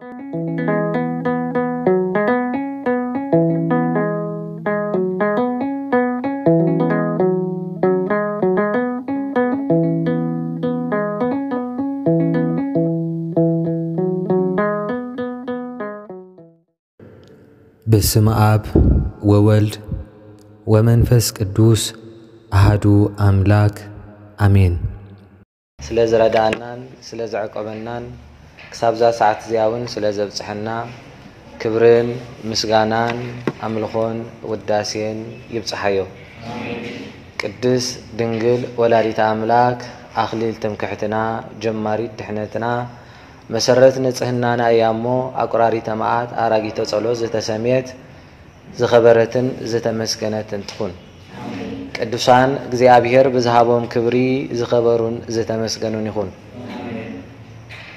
በስመ አብ ወወልድ ወመንፈስ ቅዱስ አሃዱ አምላክ አሜን። ስለ ዝረዳእናን ስለ ዘዕቆበናን ክሳብዛ ሰዓት እዚኣ እውን ስለ ዘብጽሐና ክብርን ምስጋናን ኣምልኾን ውዳሴን ይብጽሓዮ። ቅድስት ድንግል ወላዲተ ኣምላክ ኣኽሊል ትምክሕትና፣ ጀማሪት ድሕነትና፣ መሰረት ንጽህናና እያ እሞ፣ ኣቁራሪተ መዓት ኣራጊተ ጸሎት ዝተሰምየት ዝኸበረትን ዝተመስገነትን ትኹን። ቅዱሳን እግዚኣብሔር ብዝሃቦም ክብሪ ዝኸበሩን ዝተመስገኑን ይኹን።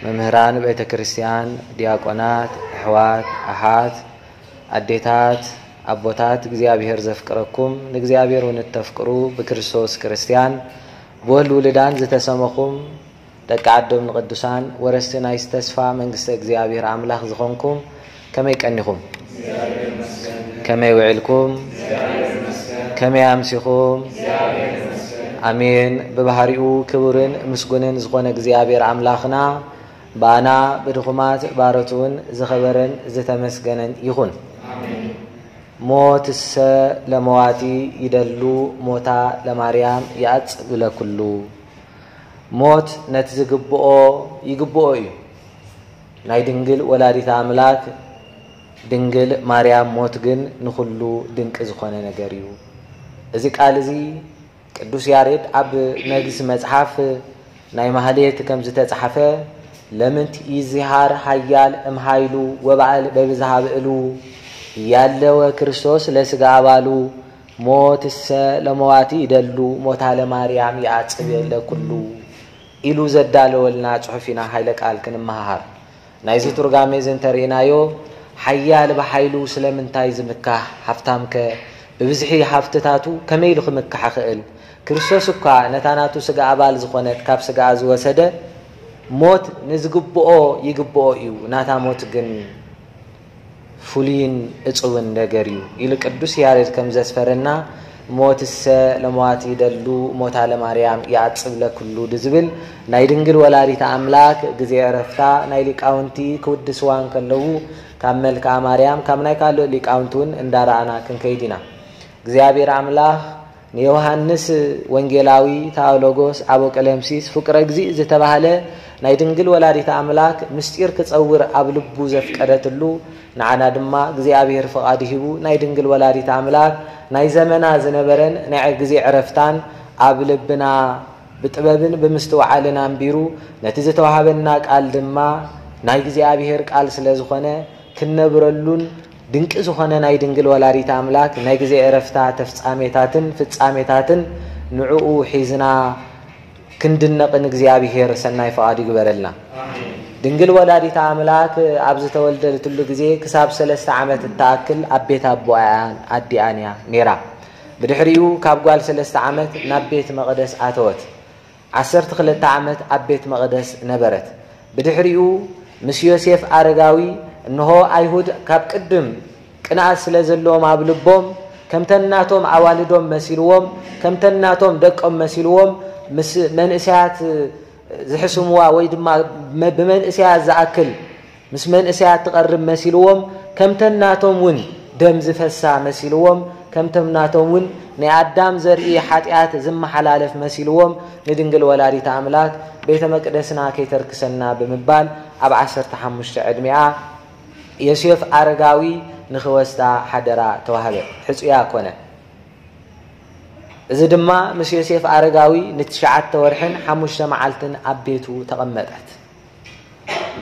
መምህራን ቤተ ክርስቲያን፣ ዲያቆናት፣ ኣሕዋት፣ ኣሓት፣ ኣዴታት፣ ኣቦታት፣ እግዚኣብሔር ዘፍቅረኩም፣ ንእግዚኣብሔር እውን እተፍቅሩ፣ ብክርስቶስ ክርስቲያን፣ ብወልድ ውሉዳን ዝተሰመኹም፣ ደቂ ዓዶም ንቅዱሳን፣ ወረስቲ ናይ ተስፋ መንግስተ እግዚኣብሔር ኣምላኽ ዝኾንኩም፣ ከመይ ቀኒኹም? ከመይ ውዒልኩም? ከመይ ኣምሲኹም? ኣሜን። ብባህሪኡ ክቡርን ምስጉንን ዝኾነ እግዚኣብሔር ኣምላኽና፣ ብኣና ብድኹማት ባሮት እውን ዝኸበረን ዝተመስገነን ይኹን። ሞትሰ ለመዋቲ ይደሉ፣ ሞታ ለማርያም ይኣጽብ ለኩሉ። ሞት ነቲ ዝግብኦ ይግብኦ እዩ። ናይ ድንግል ወላዲት ኣምላክ ድንግል ማርያም ሞት ግን ንኹሉ ድንቂ ዝኾነ ነገር እዩ። እዚ ቃል እዚ ቅዱስ ያሬድ ኣብ መግስ መጽሓፍ ናይ ማህሌት ከም ዝተጻሕፈ፣ ለምንት ይዚሃር ሃያል እምሃይሉ ወባዕል በብዝሃ ብእሉ፣ ያለወ ክርስቶስ ለስጋ ኣባሉ፣ ሞትሰ ለመዋቲ ይደሉ፣ ሞታ ለማርያም ይኣጽብ ለኩሉ ኢሉ ዘዳለወልና ጽሑፍ ኢና ኃይለ ቃል ክንመሃሃር። ናይዚ ትርጓሜ እዚ እንተርኢናዮ፣ ሓያል ብሓይሉ ስለምንታይ ዝምካሕ? ሃብታምከ ብብዝሒ ሃብትታቱ ከመይ ኢሉ ክምካሕ ይኽእል? ክርስቶስ እኳ ነታ ናቱ ስጋ ኣባል ዝኾነት ካብ ስጋኣ ዝወሰደ፣ ሞት ንዝግብኦ ይግብኦ እዩ፣ ናታ ሞት ግን ፍሉይን እጹብን ነገር እዩ ኢሉ ቅዱስ ያሬድ ከም ዘስፈረና፣ ሞትሰ ለመዋቲ ይደሉ፣ ሞታ ለማርያም ይኣጽብ ለኩሉ ዝብል ናይ ድንግል ወላዲተ ኣምላክ ግዜ ዕረፍታ ናይ ሊቃውንቲ ክውድስዋ እንከለዉ፣ ካብ መልክኣ ማርያም፣ ካብ ናይ ካልእ ሊቃውንቲ እውን እንዳረኣና ክንከይድ ኢና። እግዚኣብሔር ኣምላኽ ንዮሃንስ ወንጌላዊ፣ ታኦሎጎስ፣ ኣቦ ቀለምሲስ፣ ፍቁረ እግዚእ ዝተባህለ ናይ ድንግል ወላዲተ ኣምላክ ምስጢር ክጸውር ኣብ ልቡ ዘፍቀደትሉ፣ ንዓና ድማ እግዚኣብሔር ፍቓድ ሂቡ ናይ ድንግል ወላዲተ ኣምላክ ናይ ዘመና ዝነበረን ናይ ግዜ ዕረፍታን ኣብ ልብና ብጥበብን ብምስትውዓልን ኣንቢሩ፣ ነቲ ዝተዋህበና ቃል ድማ ናይ እግዚኣብሔር ቃል ስለ ዝኾነ ክንነብረሉን ድንቂ ዝኾነ ናይ ድንግል ወላዲተ ኣምላክ ናይ ግዜ ዕረፍታ ተፍጻሜታትን ፍጻሜታትን ንዕኡ ሒዝና ክንድነቕን እግዚኣብሔር ሰናይ ፍቓድ ይግበረልና። ድንግል ወላዲተ ኣምላክ ኣብ ዝተወልደትሉ ግዜ ክሳብ ሰለስተ ዓመት እትኣክል ኣብ ቤት ኣቦኣን ኣዲኣን እያ ነይራ። ብድሕሪኡ ካብ ጓል ሰለስተ ዓመት ናብ ቤት መቕደስ ኣተወት። ዓሰርተ ክልተ ዓመት ኣብ ቤት መቕደስ ነበረት። ብድሕሪኡ ምስ ዮሴፍ ኣረጋዊ፣ እንሆ ኣይሁድ ካብ ቅድም ቅንኣት ስለ ዘለዎም ኣብ ልቦም፣ ከምተን ናቶም ኣዋልዶም መሲልዎም፣ ከምተን ናቶም ደቆም መሲልዎም፣ ምስ መንእሰያት ዝሕስምዋ ወይ ድማ መ-፣ ብመንእሰያት ዝኣክል ምስ መንእሰያት ትቐርብ መሲልዎም፣ ከምተን ናቶም እውን ደም ዝፈሳ መሲልዎም፣ ከምቶም ናቶም እውን ናይ ኣዳም ዘርኢ ሓጢኣት ዝመሓላለፍ መሲልዎም፣ ንድንግል ወላዲተ ኣምላክ ቤተ መቅደስና ከይተርክሰና ብምባል ኣብ ዓሰርተ ሓሙሽተ ዕድሚኣ ዮሴፍ ኣረጋዊ ንኽወስዳ ሓደራ ተዋህበ። ሕጹያ ኮነ። እዚ ድማ ምስ ዮሴፍ ኣረጋዊ ንትሽዓተ ወርሕን ሓሙሽተ መዓልትን ኣብ ቤቱ ተቐመጠት።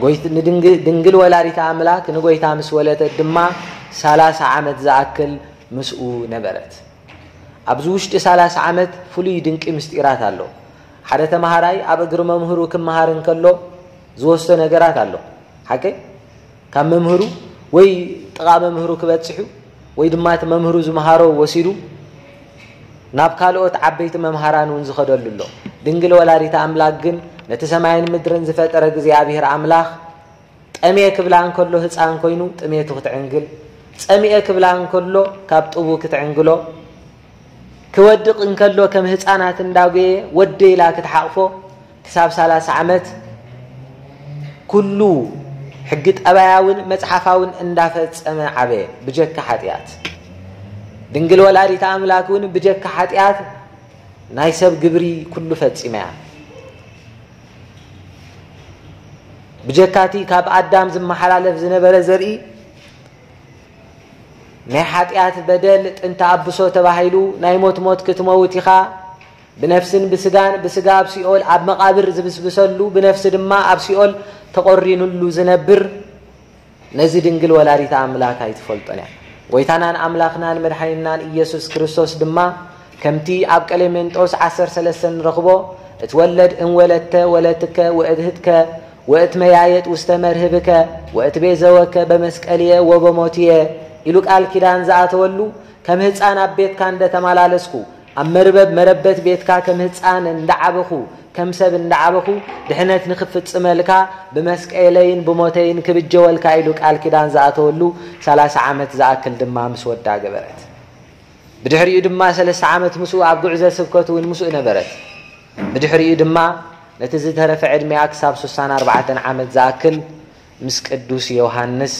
ጎይት-፣ ንድንግ-፣ ድንግል ወላዲተ ኣምላክ ንጎይታ ምስ ወለደት ድማ ሰላሳ ዓመት ዝኣክል ምስኡ ነበረት። ኣብዚ ውሽጢ ሰላሳ ዓመት ፍሉይ ድንቂ ምስጢራት ኣሎ። ሓደ ተማሃራይ ኣብ እግሪ መምህሩ ክመሃር እንከሎ ዝወስዶ ነገራት ኣሎ። ሓቀይ? ካብ መምህሩ ወይ ጥቓ መምህሩ ክበጽሕ እዩ፣ ወይ ድማ እቲ መምህሩ ዝመሃሮ ወሲዱ ናብ ካልኦት ዓበይቲ መምሃራን እውን ዝኸደሉ ኣሎ። ድንግል ወላዲተ ኣምላክ ግን ነቲ ሰማይን ምድርን ዝፈጠረ እግዚኣብሔር ኣምላኽ ጠምየ ክብላ እንከሎ ህፃን ኮይኑ ጥሜቱ ክትዕንግል፣ ፀሚኤ ክብላ እንከሎ ካብ ጡቡ ክትዕንግሎ፣ ክወድቕ እንከሎ ከም ህፃናት እንዳጎየ ወደ ኢላ ክትሓቕፎ ክሳብ ሰላሳ ዓመት ኩሉ ሕጊ ጠባያውን መጽሓፋውን እንዳፈጸመ ዓበየ። ብጀካ ሓጢኣት ድንግል ወላዲተ ኣምላክ እውን ብጀካ ሓጢኣት ናይ ሰብ ግብሪ ኩሉ ፈጺማ እያ። ብጀካቲ ካብ ኣዳም ዝመሓላለፍ ዝነበረ ዘርኢ ናይ ሓጢኣት በደል ጥንተ ኣብሶ ተባሂሉ ናይ ሞት ሞት ክትመውት ኢኻ፣ ብነፍስን ብስጋን፣ ብስጋ ኣብ ሲኦል ኣብ መቓብር ዝብስብሰሉ፣ ብነፍሲ ድማ ኣብ ሲኦል ተቖሪኑሉ ዝነብር፣ ነዚ ድንግል ወላዲተ ኣምላክ ኣይትፈልጦን እያ። ጎይታናን ኣምላኽናን መድሓኒናን ኢየሱስ ክርስቶስ ድማ ከምቲ ኣብ ቀሌሜንጦስ ዓሰርተ ሰለስተ ንረኽቦ፣ እትወለድ እንወለድተ ወለትከ ወእድህትከ ወእትመያየጥ ውስተ መርህብከ ወእትቤዘወከ በመስቀልየ ወበሞትየ ኢሉ ቃል ኪዳን ዝኣተወሉ፣ ከም ህፃን ኣብ ቤትካ እንደተመላለስኩ፣ ኣብ መርበብ መረበት ቤትካ ከም ህፃን እንዳዓበኹ፣ ከም ሰብ እንዳዓበኹ፣ ድሕነት ንክፍፅመልካ ብመስቀለይን ብሞተይን ክብጀወልካ ኢሉ ቃል ኪዳን ዝኣተወሉ ሰላሳ ዓመት ዝኣክል ድማ ምስ ወዳ ገበረት። ብድሕሪኡ ድማ ሰለስተ ዓመት ምስኡ ኣብ ጉዕዘ ስብከቱ እውን ምስኡ ነበረት። ብድሕሪኡ ድማ ነቲ ዝተረፈ ዕድሜኣ ክሳብ ሱሳን ኣርባዕተን ዓመት ዝኣክል ምስ ቅዱስ ዮሃንስ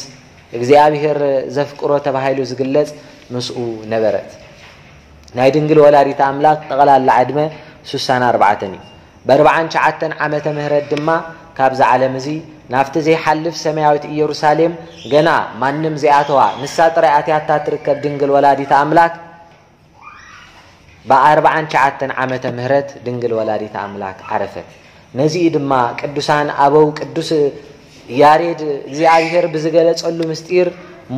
እግዚኣብሔር ዘፍቅሮ ተባሂሉ ዝግለጽ ምስኡ ነበረት። ናይ ድንግል ወላዲተ ኣምላክ ጠቕላላ ዕድመ ሱሳን ኣርባዕተን እዩ። ብኣርባዓን ትሽዓተን ዓመተ ምህረት ድማ ካብዚ ዓለም እዚ ናብቲ ዘይሓልፍ ሰማያዊት ኢየሩሳሌም ገና ማንም ዘይኣተዋ ንሳ ጥራይ ኣትያታ ትርከብ ድንግል ወላዲተ ኣምላክ ብኣርባዓን ትሽዓተን ዓመተ ምህረት ድንግል ወላዲተ ኣምላክ ዓረፈት። ነዚኡ ድማ ቅዱሳን ኣበው ቅዱስ ያሬድ እግዚኣብሔር ብዝገለጸሉ ምስጢር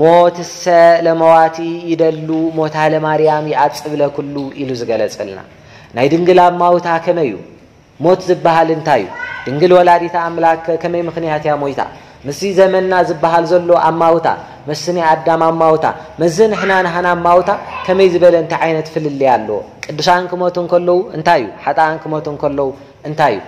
ሞትሰ ለመዋቲ ይደሉ ሞታ ለማርያም ይኣጽብ ለኩሉ ኢሉ ዝገለጸልና። ናይ ድንግል ኣማውታ ከመይ እዩ? ሞት ዝበሃል እንታይ እዩ? ድንግል ወላዲተ ኣምላክ ከመይ ምኽንያት እያ ሞይታ? ምስዚ ዘመንና ዝበሃል ዘሎ ኣማውታ፣ ምስዚ ናይ ኣዳም ኣማውታ፣ ምስዚ ንሕና ናህና ኣማውታ ከመይ ዝበለ እንታይ ዓይነት ፍልልይ ኣለዎ? ቅዱሳን ክሞቱ እንከለዉ እንታይ እዩ? ሓጥኣን ክሞቱ እንከለዉ እንታይ እዩ?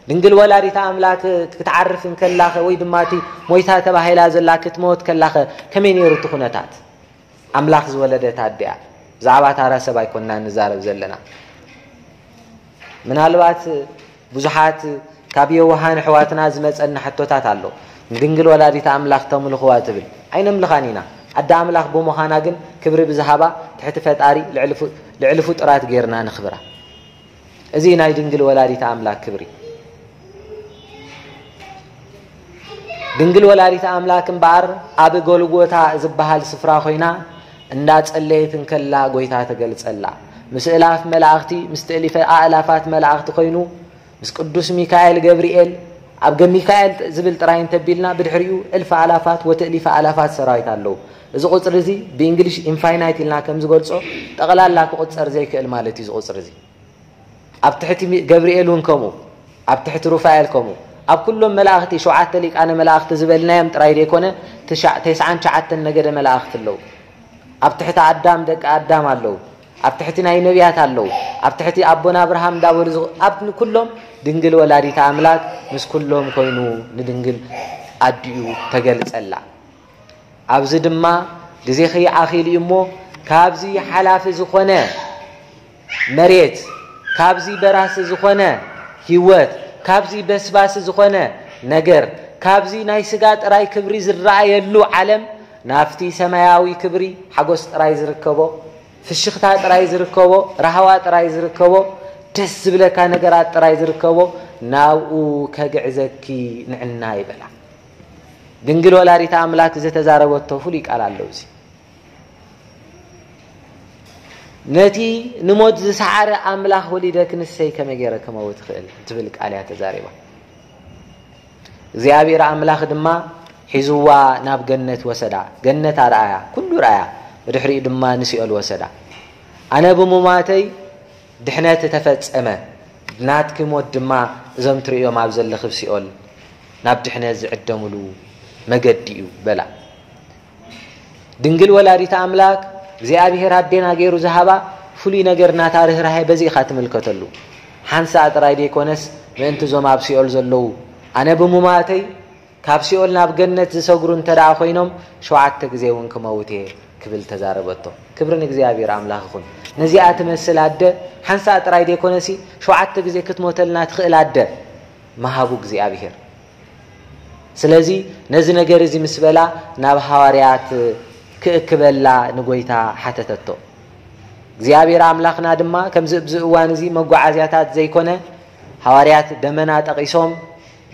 ድንግል ወላዲተ ኣምላክ ክትዓርፍ እንከላኸ ወይ ድማ እቲ ሞይታ ተባሂላ ዘላ ክትሞት ከላኸ ከመይ ነይሩ እቲ ኩነታት? ኣምላኽ ዝወለደት ኣዲኣ። ብዛዕባ ታራ ሰብ ኣይኮንና ንዛረብ ዘለና። ምናልባት ብዙሓት ካብ የዋሃን ኣሕዋትና ዝመጸና ሕቶታት ኣሎ። ንድንግል ወላዲት ኣምላኽ ተምልኽዋ ትብል። ኣይነምልኻን ኢና። ኣደ ኣምላኽ ብምዃና ግን ክብሪ ብዝሃባ ትሕቲ ፈጣሪ ልዕሊ ፍ-፣ ልዕሊ ፍጡራት ጌርና ንኽብራ። እዚ ናይ ድንግል ወላዲት ኣምላክ ክብሪ። ድንግል ወላዲት ኣምላክ እምበኣር ኣብ ጎልጎታ ዝበሃል ስፍራ ኮይና እንዳጸለየት እንከላ ጎይታ ተገልጸላ። ምስ እላፍ መላእኽቲ፣ ምስ ትእሊፈ ኣእላፋት መላእኽቲ ኮይኑ፣ ምስ ቅዱስ ሚካኤል ገብርኤል፣ ኣብ ገ-፣ ሚካኤል ዝብል ጥራይ እንተቢልና ብድሕሪኡ እልፍ ኣእላፋት ወትእሊፈ ኣእላፋት ሰራዊት ኣለዉ። እዚ ቁጽሪ እዚ ብእንግሊሽ ኢንፋይናይት ኢልና ከም ዝገልጾ ጠቕላላ ክቑጸር ዘይክእል ማለት እዩ እዚ ቁጽሪ እዚ። ኣብ ትሕቲ ሚ-፣ ገብርኤል እውን ከምኡ፣ ኣብ ትሕቲ ሩፋኤል ከምኡ፣ ኣብ ኩሎም መላእኽቲ፣ ሸውዓተ ሊቃነ መላእኽቲ ዝበልናዮም ጥራይ ዘይኮነ፣ ትሻ-፣ ተስዓን ትሽዓተን ነገደ መላእኽቲ ኣለዉ። ኣብ ትሕቲ ኣዳም ደቂ ኣዳም ኣለዉ። ኣብ ትሕቲ ናይ ነቢያት ኣለዉ። ኣብ ትሕቲ ኣቦና ኣብርሃም እንዳበሉ ዝቕ-፣ ኣብ ኩሎም ድንግል ወላዲተ ኣምላክ ምስ ኩሎም ኮይኑ ንድንግል ኣዲኡ ተገልጸላ። ኣብዚ ድማ ግዜኺ ኣኺሉ እዩ እሞ፣ ካብዚ ሓላፊ ዝኾነ መሬት፣ ካብዚ በራሲ ዝኾነ ህይወት፣ ካብዚ በስባሲ ዝኾነ ነገር፣ ካብዚ ናይ ስጋ ጥራይ ክብሪ ዝረኣየሉ ዓለም፣ ናብቲ ሰማያዊ ክብሪ፣ ሓጎስ ጥራይ ዝርከቦ፣ ፍሽኽታ ጥራይ ዝርከቦ፣ ራህዋ ጥራይ ዝርከቦ፣ ደስ ዝብለካ ነገራት ጥራይ ዝርከቦ፣ ናብኡ ከግዕዘኪ ንዕና ይበላ። ድንግል ወላዲተ ኣምላክ ዝተዛረበቶ ፍሉይ ቃል ኣሎ። እዚ ነቲ ንሞት ዝሰዓረ ኣምላኽ ወሊደኪ ንሰይ ከመይ ገይረ ክመውት እኽእል? ትብል ቃል እያ ተዛሪባ። እግዚኣብሔር ኣምላኽ ድማ ሒዝዋ ናብ ገነት ወሰዳ። ገነት ኣርኣያ፣ ኩሉ ረኣያ፣ ብድሕሪኡ ድማ ንሲኦል ወሰዳ። ኣነ ብምሟተይ ድሕነት ተፈጸመ፣ ናትኪ ሞት ድማ እዞም ትርእዮም ኣብ ዘለኺ ኣብ ሲኦል ናብ ድሕነት ዝዕደምሉ መገዲ እዩ በላ። ድንግል ወላዲተ ኣምላክ እግዚኣብሔር ኣዴና ገይሩ ዝሃባ ፍሉይ ነገር ናታ ርህራሄ በዚ ኢኻ ትምልከተሉ። ሓንሳእ ጥራይ ዘይኮነስ ምእንቲ እዞም ኣብ ሲኦል ዘለዉ ኣነ ብምሟተይ ካብ ሲኦል ናብ ገነት ዝሰግሩ እንተ ደኣ ኮይኖም፣ ሸውዓተ ግዜ እውን ክመውት እየ ክብል ተዛረበቶ። ክብሪ ንእግዚኣብሔር ኣምላኽ ይኹን። ነዚኣ ትመስል ኣደ ሓንሳእ ጥራይ ዘይኮነሲ፣ ሸውዓተ ግዜ ክትሞተልና ትኽእል ኣደ ምሃቡ እግዚኣብሔር። ስለዚ ነዚ ነገር እዚ ምስ በላ፣ ናብ ሃዋርያት ክእክበላ ንጎይታ ሓተተቶ። እግዚኣብሔር ኣምላኽና ድማ ከምዚ ኣብዚ እዋን እዚ መጓዓዝያታት ዘይኮነ፣ ሃዋርያት ደመና ጠቒሶም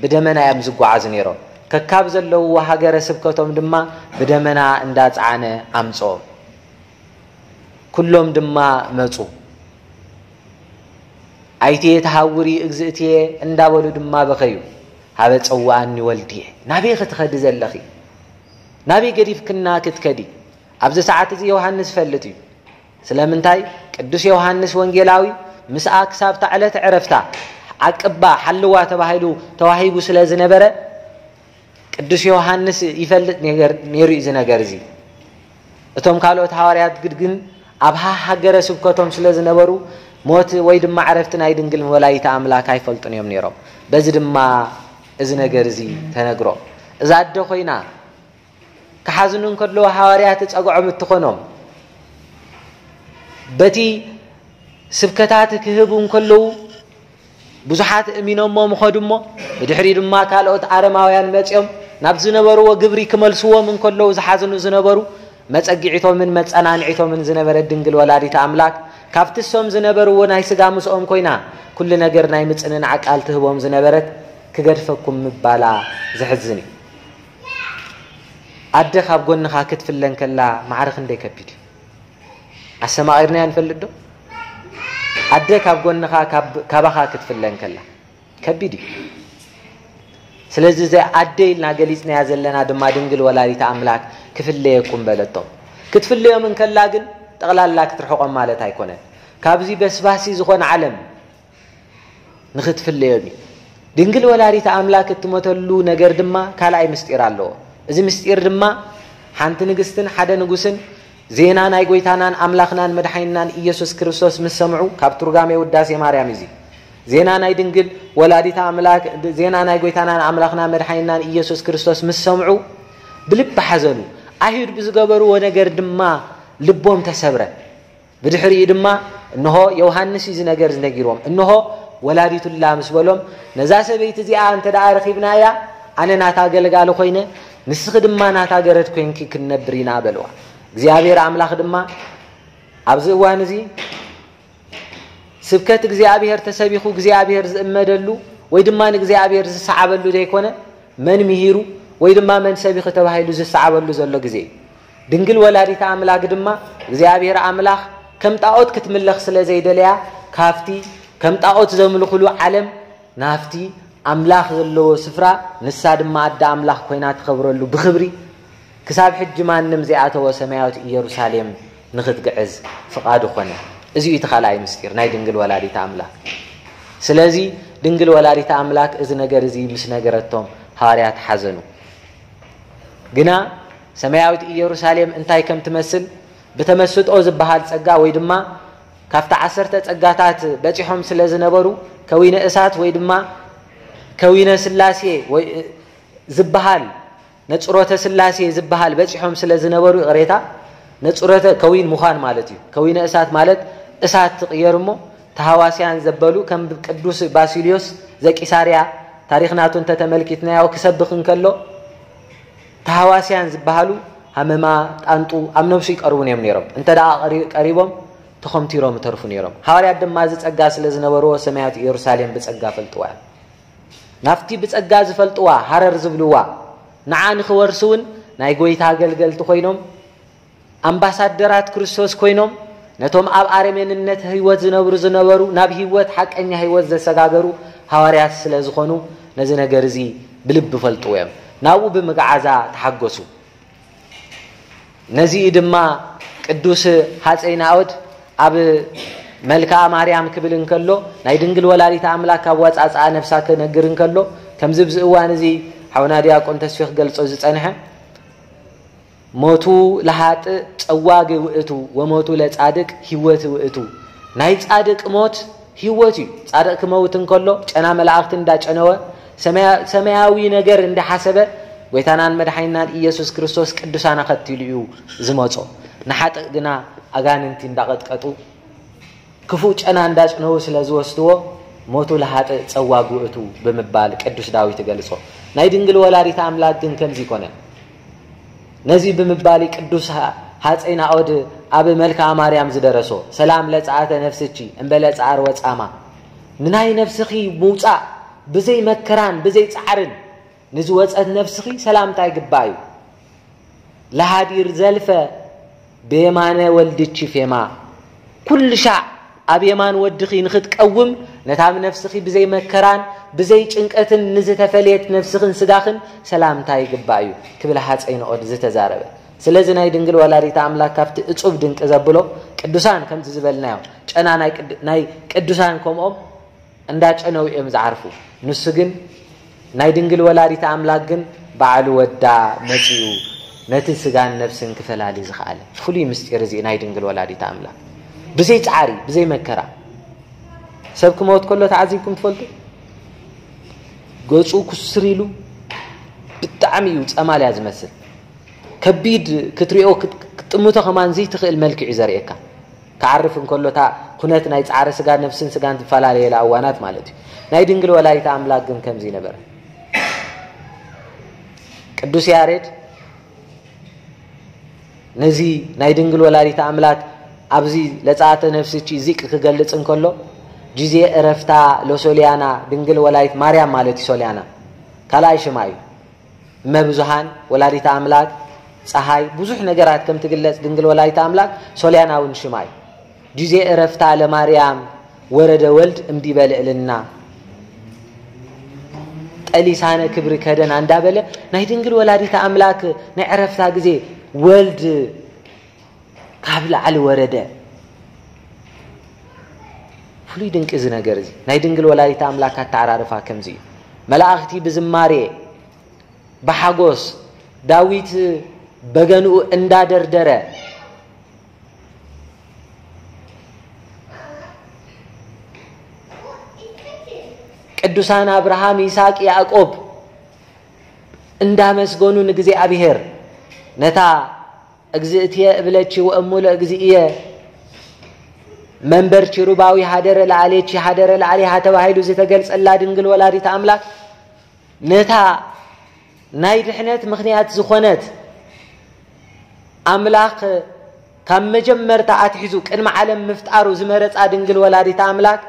ብደመና እዮም ዝጓዓዙ ነይሮም። ከካብ ዘለውዎ ሃገረ ስብከቶም ድማ ብደመና እንዳጸዓነ ኣምጽኦም። ኩሎም ድማ መጹ። "ኣይትየ ተሃውሪ እግዝእትየ" እንዳበሉ ድማ በኸዩ። "ሃበ ጸውኣኒ ወልድየ፣ ናበይ ክትኸዲ ዘለኺ? ናበይ ገዲፍክና ክትከዲ?" ኣብዚ ሰዓት እዚ ዮሃንስ ይፈልጥ እዩ። ስለምንታይ? ቅዱስ ዮሃንስ ወንጌላዊ ምስኣ ክሳብታ ዕለተ ዕረፍታ ዓቅባ፣ ሓልዋ ተባሂሉ ተዋሂቡ ስለ ዝነበረ፣ ቅዱስ ዮሃንስ ይፈልጥ ነገር ነይሩ እዩ እዚ ነገር እዚ። እቶም ካልኦት ሃዋርያት ግድ ግን ኣብ ሃ-፣ ሃገረ ስብከቶም ስለ ዝነበሩ፣ ሞት ወይ ድማ ዕረፍቲ ናይ ድንግል ወላዲተ ኣምላክ ኣይፈልጡን እዮም ነይሮም። በዚ ድማ እዚ ነገር እዚ ተነግሮ። እዛ ኣደ ኮይና ክሓዝኑ እንከለዉ ሃዋርያት ጸግዖም እትኾኖም፣ በቲ ስብከታት ክህቡ እንከለዉ ብዙሓት እሚኖሞ ምኸዱ እሞ፣ ብድሕሪ ድማ ካልኦት ኣረማውያን መጺኦም ናብ ዝነበርዎ ግብሪ ክመልስዎም እንከለዉ ዝሓዝኑ ዝነበሩ፣ መጸጊዒቶምን መጸናንዒቶምን ዝነበረት ድንግል ወላዲተ ኣምላክ፣ ካብቲ እሶም ዝነበርዎ ናይ ስጋ ምስኦም ኮይና፣ ኩሉ ነገር ናይ ምጽንናዕ ቃል ትህቦም ዝነበረት፣ ክገድፈኩም ምባላ ዘሕዝን እዩ። ኣደ ካብ ጎንኻ ክትፍለ እንከላ ማዕረ ክንደይ ከቢድ እዩ። ኣሰማቒርናያ ንፈልጥ ዶ? ኣደ ካብ ጎንኻ፣ ካብ-፣ ካባኻ ክትፍለ እንከላ ከቢድ እዩ። ስለዚ፣ እዚ ኣደ ኢልና ገሊጽናያ ዘለና ድማ ድንግል ወላዲተ ኣምላክ ክፍለየኩም በለቶም። ክትፍለዮም እንከላ ግን ጠቕላላ ክትርሕቖም ማለት ኣይኮነን። ካብዚ በስባሲ ዝኾነ ዓለም ንኽትፍለዮም እዩ። ድንግል ወላዲተ ኣምላክ እትሞተሉ ነገር ድማ ካልኣይ ምስጢር ኣለዎ። እዚ ምስጢር ድማ ሓንቲ ንግስትን ሓደ ንጉስን ዜና ናይ ጎይታናን ኣምላኽናን መድሓኒናን ኢየሱስ ክርስቶስ ምስ ሰምዑ፣ ካብ ትርጓሜ ውዳሴ ማርያም እዚ ዜና ናይ ድንግል ወላዲተ ኣምላክ፣ ዜና ናይ ጎይታናን ኣምላኽና መድሓኒናን ኢየሱስ ክርስቶስ ምስ ሰምዑ ብልቢ ሓዘኑ። ኣይሁድ ብዝገበርዎ ነገር ድማ ልቦም ተሰብረ። ብድሕሪኡ ድማ እንሆ ዮሃንስ እዩ እዚ ነገር እዚ ነጊርዎም። እንሆ ወላዲቱላ ምስ በሎም፣ ነዛ ሰበይቲ እዚኣ እንተ ደኣ ረኺብናያ፣ ኣነ ናታ ኣገልጋሊ ኮይነ፣ ንስኺ ድማ ናታ ገረድ ኮይንኪ ክንነብር ኢና በልዋ። እግዚኣብሔር ኣምላኽ ድማ ኣብዚ እዋን እዚ ስብከት እግዚኣብሔር ተሰቢኹ እግዚኣብሔር ዝእመደሉ ወይ ድማ ንእግዚኣብሔር ዝሰዓበሉ ዘይኮነ፣ መን ምሂሩ ወይ ድማ መን ሰቢኹ ተባሂሉ ዝሰዓበሉ ዘሎ ግዜ እዩ። ድንግል ወላዲተ ኣምላክ ድማ እግዚኣብሔር ኣምላኽ ከም ጣኦት ክትምለኽ ስለ ዘይደለያ፣ ካብቲ ከም ጣኦት ዘምልኹሉ ዓለም ናብቲ ኣምላኽ ዘለዎ ስፍራ፣ ንሳ ድማ ኣደ ኣምላኽ ኮይና ትኸብረሉ ብኽብሪ፣ ክሳብ ሕጂ ማንም ዘይኣተዎ ሰማያዊት ኢየሩሳሌም ንኽትግዕዝ ፍቓዱ ኾነ። እዚ እዩ እቲ ካልኣይ ምስጢር ናይ ድንግል ወላዲተ ኣምላክ። ስለዚ ድንግል ወላዲተ ኣምላክ እዚ ነገር እዚ ምስ ነገረቶም ሃዋርያት ሓዘኑ። ግና ሰማያዊት ኢየሩሳሌም እንታይ ከም ትመስል ብተመስጦ ዝበሃል ጸጋ ወይ ድማ ካብቲ ዓሰርተ ጸጋታት በጺሖም ስለ ዝነበሩ፣ ከዊነ እሳት ወይ ድማ ከዊነ ስላሴ ወይ ዝበሃል፣ ነጽሮተ ስላሴ ዝበሃል በጺሖም ስለ ዝነበሩ፣ ይቕሬታ፣ ነጽሮተ ከዊን ምዃን ማለት እዩ። ከዊነ እሳት ማለት እሳት ትቕየር እሞ፣ ተሃዋስያን ዘበሉ ከም ቅዱስ ባሲልዮስ ዘቂሳርያ፣ ታሪኽ ናቱ እንተተመልኪትናዮ፣ ክሰብኽ እንከሎ፣ ተሃዋስያን ዝበሃሉ ሃመማ፣ ጣንጡ ኣብ ነብሱ ይቀርቡ እዮም ነይሮም። እንተ ደኣ ቀሪ-፣ ቀሪቦም፣ ተኾምቲሮም ይተርፉ ነይሮም። ሃዋርያት ድማ እዚ ጸጋ ስለ ዝነበርዎ፣ ሰማያዊት ኢየሩሳሌም ብጸጋ ፈልጥዋ እዮም። ናብቲ ብጸጋ ዝፈልጥዋ፣ ሃረር ዝብልዋ፣ ንዓ ንኽወርሱ እውን ናይ ጐይታ ኣገልገልቲ ኮይኖም፣ ኣምባሳደራት ክርስቶስ ኮይኖም፣ ነቶም ኣብ ኣረሜንነት ህይወት ዝነብሩ ዝነበሩ፣ ናብ ህይወት፣ ሓቀኛ ህይወት ዘሰጋገሩ ሃዋርያት ስለ ዝኾኑ፣ ነዚ ነገር እዚ ብልቢ ይፈልጥዎ እዮም። ናብኡ ብምግዓዛ ተሓጎሱ። ነዚ እዩ ድማ ቅዱስ ሃፀይ ናኦድ ኣብ መልክኣ ማርያም ክብል እንከሎ፣ ናይ ድንግል ወላዲተ ኣምላክ ኣወፃፅኣ ነፍሳ ክነግር እንከሎ፣ ከምዚ ኣብዚ እዋን እዚ ሓውና ዲያቆን ተስፌ ክገልጾ ዝጸንሐ፣ ሞቱ ለሃጥእ ጸዋግ ውእቱ ወሞቱ ለጻድቅ ህይወት ውእቱ። ናይ ጻድቅ ሞት ህይወት እዩ። ጻድቅ ክመውት እንከሎ፣ ጨና መላእክቲ እንዳጨነወ፣ ሰማያ-፣ ሰማያዊ ነገር እንዳሓሰበ ጎይታናን መድሓኒናን ኢየሱስ ክርስቶስ ቅዱሳን ኣኸቲሉ እዩ ዝመጾ። ንሓጥእ ግና ኣጋንንቲ እንዳቐጥቀጡ ክፉእ ጨና እንዳጽነዉ ስለ ዝወስድዎ ሞቱ ለሃጥእ ጸዋግ ውእቱ ብምባል ቅዱስ ዳዊት ይገልጾ። ናይ ድንግል ወላዲት ኣምላክ ግን ከምዚ ይኮነን። ነዚ ብምባል ቅዱስ ሃ-፣ ሃፀይ ናኦድ ኣብ መልክዓ ማርያም ዝደረሶ፣ ሰላም ለፀኣተ ነፍስኪ እምበለ ፃዕር ወፃማ፣ ንናይ ነፍስኺ ምውፃእ ብዘይ መከራን ብዘይ ፃዕርን ንዝወፀት ነፍስኺ ሰላምታ ይግባእ እዩ። ለሃዲር ዘልፈ ብየማነ ወልድኪ ፌማ፣ ኩሉ ሻዕ ኣብ የማን ወድኺ ንኽትቀውም፣ ነታ ብነፍስኺ ብዘይ መከራን ብዘይ ጭንቀትን ንዝተፈለየት ነፍስኽን ስጋኽን ሰላምታ ይግባእ እዩ ክብል ሃፀይ ንኦድ ዝተዛረበ። ስለዚ ናይ ድንግል ወላዲተ ኣምላክ ካብቲ እጹብ ድንቂ ዘብሎ ቅዱሳን ከምዚ ዝበልናዮ ጨና ናይ ቅድ-፣ ናይ ቅዱሳን ከምኦም እንዳጨነው እዮም ዝዓርፉ። ንሱ ግን ናይ ድንግል ወላዲተ ኣምላክ ግን ባዕሉ ወዳ መጺኡ ነቲ ስጋን ነፍስን ክፈላሊ ዝኸኣለ ፍሉይ ምስጢር እዚ ናይ ድንግል ወላዲተ ኣምላክ ብዘይ ጻዕሪ ብዘይ መከራ። ሰብ ክመውት ከሎ ተዓዚብኩም ትፈልጡ? ገጹ ኩስር ኢሉ ብጣዕሚ እዩ ጸማልያ ዝመስል። ከቢድ ክትሪኦ ክጥ-፣ ክትጥምቶ ከማን ዘይትኽእል መልክዕ እዩ ዘርእየካ። ክዓርፍ እንከሎ እታ ኩነት ናይ ጻዕሪ ስጋ ነፍስን ስጋን ትፈላለየላ እዋናት ማለት እዩ። ናይ ድንግል ወላዲተ ኣምላክ ግን ከምዚ ነበረ። ቅዱስ ያሬድ ነዚ ናይ ድንግል ወላዲተ ኣምላክ ኣብዚ ለጻተ ነፍስኪ ዚቅ ክገልጽ እንከሎ፣ ጊዜ እረፍታ ለሶልያና ድንግል ወላዲት ማርያም ማለት እዩ። ሶልያና ካልኣይ ሽማ እዩ። እመ ብዙሃን ወላዲተ ኣምላክ ጸሃይ ብዙሕ ነገራት ከም ትግለጽ ድንግል ወላዲተ ኣምላክ ሶልያና እውን ሽማ እዩ። ጊዜ እረፍታ ለማርያም ወረደ ወልድ እምዲበ ልዕልና ጠሊሳነ ክብሪ ከደና እንዳበለ ናይ ድንግል ወላዲተ ኣምላክ ናይ ዕረፍታ ግዜ ወልድ ካብ ላዕሊ ወረደ። ፍሉይ ድንቂ እዚ ነገር እዚ ናይ ድንግል ወላዲተ ኣምላክ ኣተዓራርፋ ከምዚ እዩ። መላእኽቲ ብዝማሬ ብሓጎስ ዳዊት በገንኡ እንዳደርደረ ቅዱሳን ኣብርሃም፣ ይስሐቅ፣ ያዕቆብ እንዳመስገኑ ንእግዚኣብሔር ነታ እግዝእትየ እብለኪ ወእሙ ለእግዚእየ መንበርኪ ሩባዊ ሃደረ ለዓሌኪ ሃደረ ለዓሌሃ ተባሂሉ ዝተገልጸላ ድንግል ወላዲት ኣምላክ ነታ ናይ ድሕነት ምኽንያት ዝኾነት ኣምላኽ ካብ መጀመርታ ኣትሒዙ ቅድሚ ዓለም ምፍጣሩ ዝመረጻ ድንግል ወላዲት ኣምላክ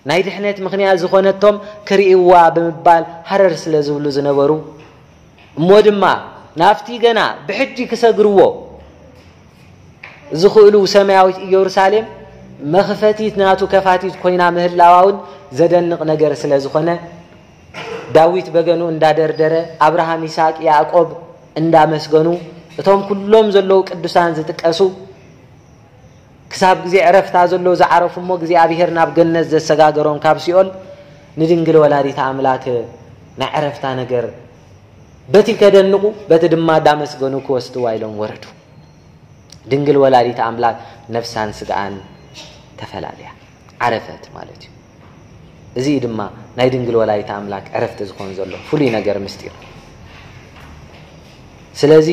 ናይ ድሕነት ምኽንያት ዝኾነቶም ክርእይዋ ብምባል ሃረር ስለ ዝብሉ ዝነበሩ፣ እሞ ድማ ናብቲ ገና ብሕጂ ክሰግርዎ ዝኽእሉ ሰማያዊት ኢየሩሳሌም መኽፈቲት ናቱ ከፋቲት ኮይና ምህላዋ እውን ዘደንቕ ነገር ስለ ዝኾነ፣ ዳዊት በገኑ እንዳደርደረ፣ ኣብርሃም፣ ይስሐቅ፣ ያዕቆብ እንዳመስገኑ፣ እቶም ኩሎም ዘለዉ ቅዱሳን ዝጥቀሱ፣ ክሳብ ግዜ ዕረፍታ ዘለዉ ዝዓረፉ እሞ እግዚኣብሔር ናብ ገነት ዘሰጋገሮም ካብ ሲኦል ንድንግል ወላዲተ ኣምላክ ናይ ዕረፍታ ነገር በቲ ከደንቑ፣ በቲ ድማ እንዳመስገኑ ክወስድዋ ኢሎም ወረዱ። ድንግል ወላዲተ ኣምላክ ነፍሳን ስጋኣን ተፈላልያ ዓረፈት ማለት እዩ። እዚ እዩ ድማ ናይ ድንግል ወላዲተ ኣምላክ ዕረፍቲ ዝኾን ዘሎ ፍሉይ ነገር ምስጢር። ስለዚ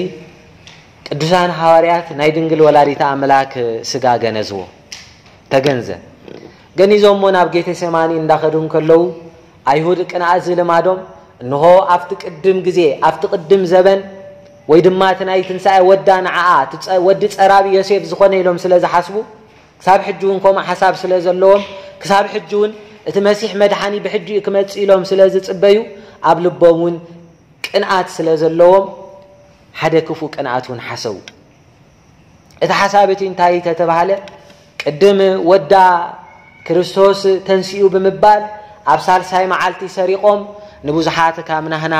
ቅዱሳን ሃዋርያት ናይ ድንግል ወላዲተ ኣምላክ ስጋ ገነዝዎ፣ ተገንዘ። ገኒዞሞ ናብ ጌቴሴማኒ እንዳኸዱ እንከለዉ ኣይሁድ ቅንኣት ዝልማዶም፣ እንሆ ኣብቲ ቅድም ግዜ፣ ኣብቲ ቅድም ዘበን፣ ወይ ድማ እቲ ናይ ትንሳኤ ወዳ ንዓኣ፣ እቲ ጸ-፣ ወዲ ጸራቢ ዮሴፍ ዝኾነ ኢሎም ስለ ዝሓስቡ፣ ክሳብ ሕጂ እውን ከምኡ ሓሳብ ስለ ዘለዎም፣ ክሳብ ሕጂ እውን እቲ መሲሕ መድሓኒ ብሕጂ እዩ ክመጽእ ኢሎም ስለ ዝጽበዩ፣ ኣብ ልቦም እውን ቅንኣት ስለ ዘለዎም፣ ሓደ ክፉእ ቅንኣት እውን ሓሰቡ። እቲ ሓሳብ እቲ እንታይ ተተባህለ? ቅድም ወዳ ክርስቶስ ተንሲኡ ብምባል ኣብ ሳልሳይ መዓልቲ ሰሪቖም ንብዙሓት ካብ ናህና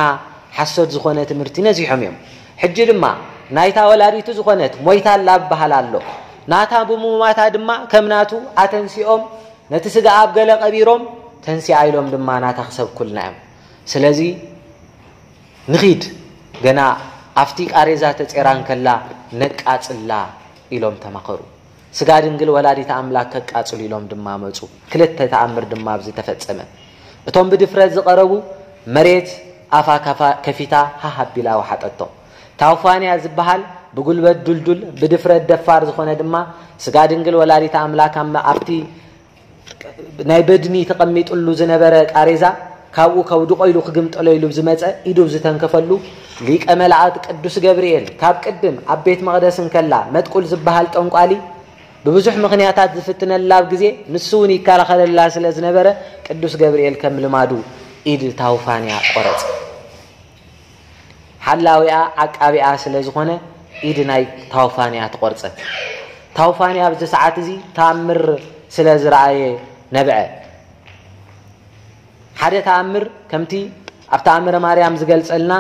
ሓሶት ዝኾነ ትምህርቲ ነዚሖም እዮም። ሕጂ ድማ ናይታ ወላዲቱ ዝኾነት ሞይታ ኣላ ይበሃል ኣሎ። ናታ ብምሙማታ ድማ ከም ናቱ ኣተንሲኦም ነቲ ስጋ ኣብ ገለ ቀቢሮም ተንሲኣ ኢሎም ድማ ናታ ክሰብኩልና እዮም። ስለዚ ንኺድ፣ ገና ኣብቲ ቃሬዛ ተጼራ እንከላ ነቃጽላ ኢሎም ተማኸሩ። ስጋ ድንግል ወላዲተ ኣምላክ ከቃጽሉ ኢሎም ድማ መጹ። ክልተ ተኣምር ድማ ኣብዚ ተፈጸመ። እቶም ብድፍረት ዝቐረቡ መሬት ኣፋ ካፋ ከፊታ ሃህ ኣቢላ ወሓጠቶ። ታውፋንያ ዝበሃል ብጉልበት ዱልዱል፣ ብድፍረት ደፋር ዝኾነ ድማ፣ ስጋ ድንግል ወላዲተ ኣምላክ ኣብ፣ ኣብቲ ናይ በድኒ ተቐሚጥሉ ዝነበረ ቃሬዛ ካብኡ ከውድቆ ኢሉ ክግምጠሎ ኢሉ ዝመጸ፣ ኢዱ ዝተንከፈሉ ሊቀ መላእክት ቅዱስ ገብርኤል፣ ካብ ቅድም ኣብ ቤት መቕደስ እንከላ መጥቁል ዝበሃል ጠንቋሊ ብብዙሕ ምኽንያታት ዝፍትነላ ኣብ ግዜ፣ ንሱ እውን ይከላኸለላ ስለ ዝነበረ፣ ቅዱስ ገብርኤል ከም ልማዱ ኢድ ታውፋንያ ቆረጸ። ሓላዊኣ ዓቃቢኣ ስለ ዝኾነ፣ ኢድ ናይ ታውፋንያ ተቖርጸት። ታውፋንያ ኣብዚ ሰዓት እዚ ተኣምር ስለ ዝረኣየ ነብዐ። ሓደ ተኣምር ከምቲ ኣብ ተኣምረ ማርያም ዝገልጸልና፣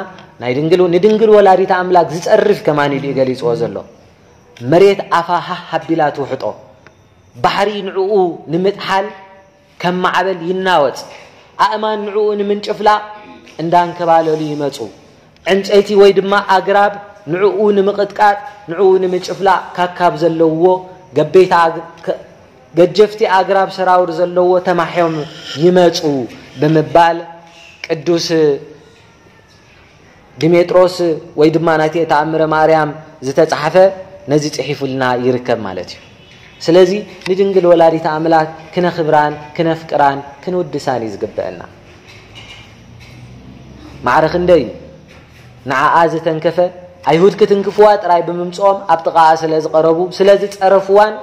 ናይ ድንግል፣ ንድንግል ወላዲተ ኣምላክ ዝጸርፍ ከማን ኢሉ እዩ ገሊጽዎ ዘሎ። መሬት ኣፋ ሃህ ኣቢላ ትውሕጦ። ባሕሪ ንዕኡ ንምጥሓል ከም ማዕበል ይናወጽ። ኣእማን ንዕኡ ንምንጭፍላቕ እንዳንከባለሉ ይመጹ። ዕንጨይቲ ወይ ድማ ኣግራብ ንዕኡ ንምቕጥቃጥ፣ ንዕኡ ንምጭፍላቕ ካካብ ዘለዎ ገበይቲ ኣግ-፣ ከ-፣ ገጀፍቲ ኣግራብ ሰራውር ዘለዎ ተማሕዮም ይመጹ ብምባል ቅዱስ ዲሜጥሮስ ወይ ድማ ናይቲ ተኣምረ ማርያም ዝተጻሕፈ ነዚ ጽሒፉልና ይርከብ ማለት እዩ። ስለዚ ንድንግል ወላዲተ ኣምላክ ክነኽብራን ክነፍቅራን ክንውድሳን እዩ ዝግበአና። ማዕረ ክንደይ እዩ ንዓኣ ዝተንከፈ። ኣይሁድ ክትንክፍዋ ጥራይ ብምምጽኦም ኣብ ጥቓኣ ስለ ዝቐረቡ፣ ስለ ዝጸረፍዋን፣